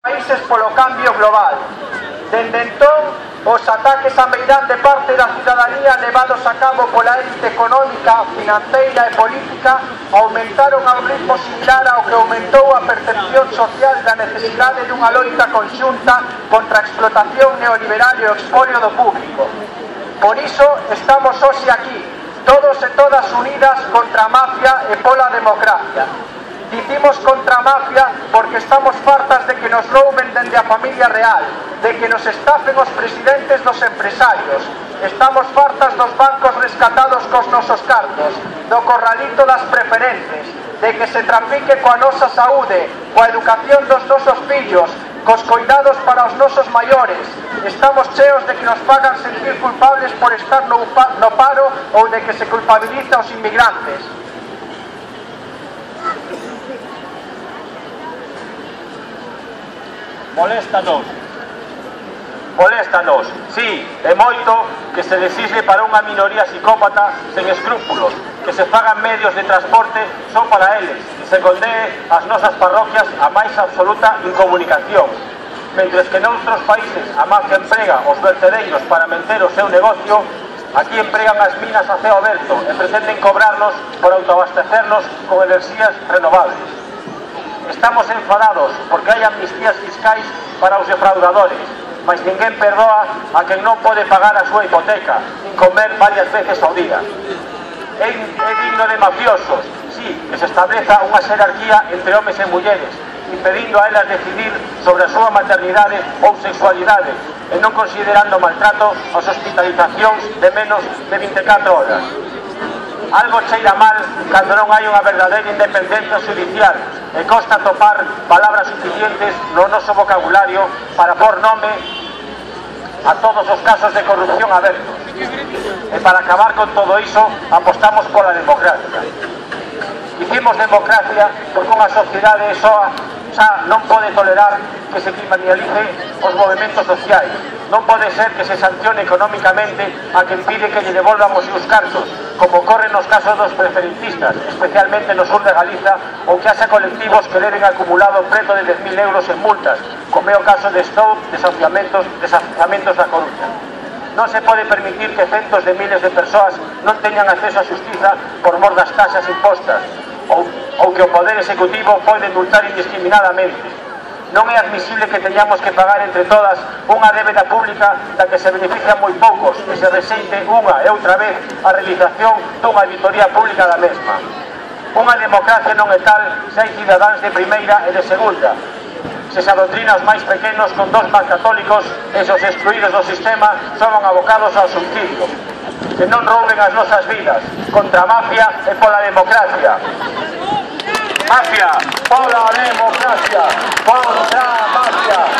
países polo cambio global. Dende entón, os ataques a meirán de parte da cidadanía levados a cabo pola élite económica, financeira e política aumentaron a un ritmo similar ao que aumentou a percepción social da necesidade dunha loita conxunta contra a explotación neoliberal e o expolio do público. Por iso estamos hoxe aquí, todos e todas unidas contra a mafia e pola democracia. Dicimos contra a mafia porque estamos fartas de que nos rouben dende a familia real, de que nos estafen os presidentes dos empresarios. Estamos fartas dos bancos rescatados cos nosos cartos, do corralito das preferentes, de que se trafique coa nosa saúde, coa educación dos nosos fillos, cos coidados para os nosos maiores. Estamos cheos de que nos fagan sentir culpables por estar no paro ou de que se culpabiliza aos inmigrantes. Moléstanos, sí, e moito que se desisle para unha minoría psicópata sen escrúpulos, que se fagan medios de transporte só para eles e se condee as nosas parroquias a máis absoluta incomunicación. Mentres que noutros países a mafia emprega os vertedeiros para manter o seu negocio, aquí empregan as minas a ceo aberto e pretenden cobrarnos por autoabastecernos con enerxías renovables. Estamos enfadados porque hai amnistías fiscais para os defraudadores, mas ninguén perdoa a quen non pode pagar a súa hipoteca, nin comer varias veces ao día. É digno de mafiosos, sí, que se estableza unha xerarquía entre homes e mulleres, impedindo a elas decidir sobre a súa maternidade ou sexualidade, e non considerando maltrato as hospitalizacións de menos de 24 horas. Algo cheira mal cando non hai unha verdadeira independencia judicial e costa topar palabras suficientes no noso vocabulario para pôr nome a todos os casos de corrupción abertos. E para acabar con todo iso, apostamos pola democracia. Dicimos democracia porque unha sociedade xa non pode tolerar que se criminalice os movimentos sociais. Non pode ser que se sancione económicamente a quen pide que lle devolvan os seus cartos, como ocorre nos casos dos preferentistas, especialmente no sur de Galiza, ou que haxa colectivos que leven acumulado preto de 10.000 euros en multas, como é o caso de Stout, desafiamentos da Coruña. Non se pode permitir que centos de miles de persoas non teñan acceso á xustiza por mor das taxas impostas, ou que o Poder Executivo pode multar indiscriminadamente. Non é admisible que teñamos que pagar entre todas unha débeda pública da que se benefician moi poucos e se rexeite unha e outra vez a realización dunha auditoría pública da mesma. Unha democracia non é tal se hai cidadáns de primeira e de segunda, se se adoctrina os máis pequenos con dogmas católicos e se os excluídos do sistema son abocados ao suicidio. Que non rouben as nosas vidas, contra a mafia e pola democracia. Mafia, pola democracia, contra a mafia.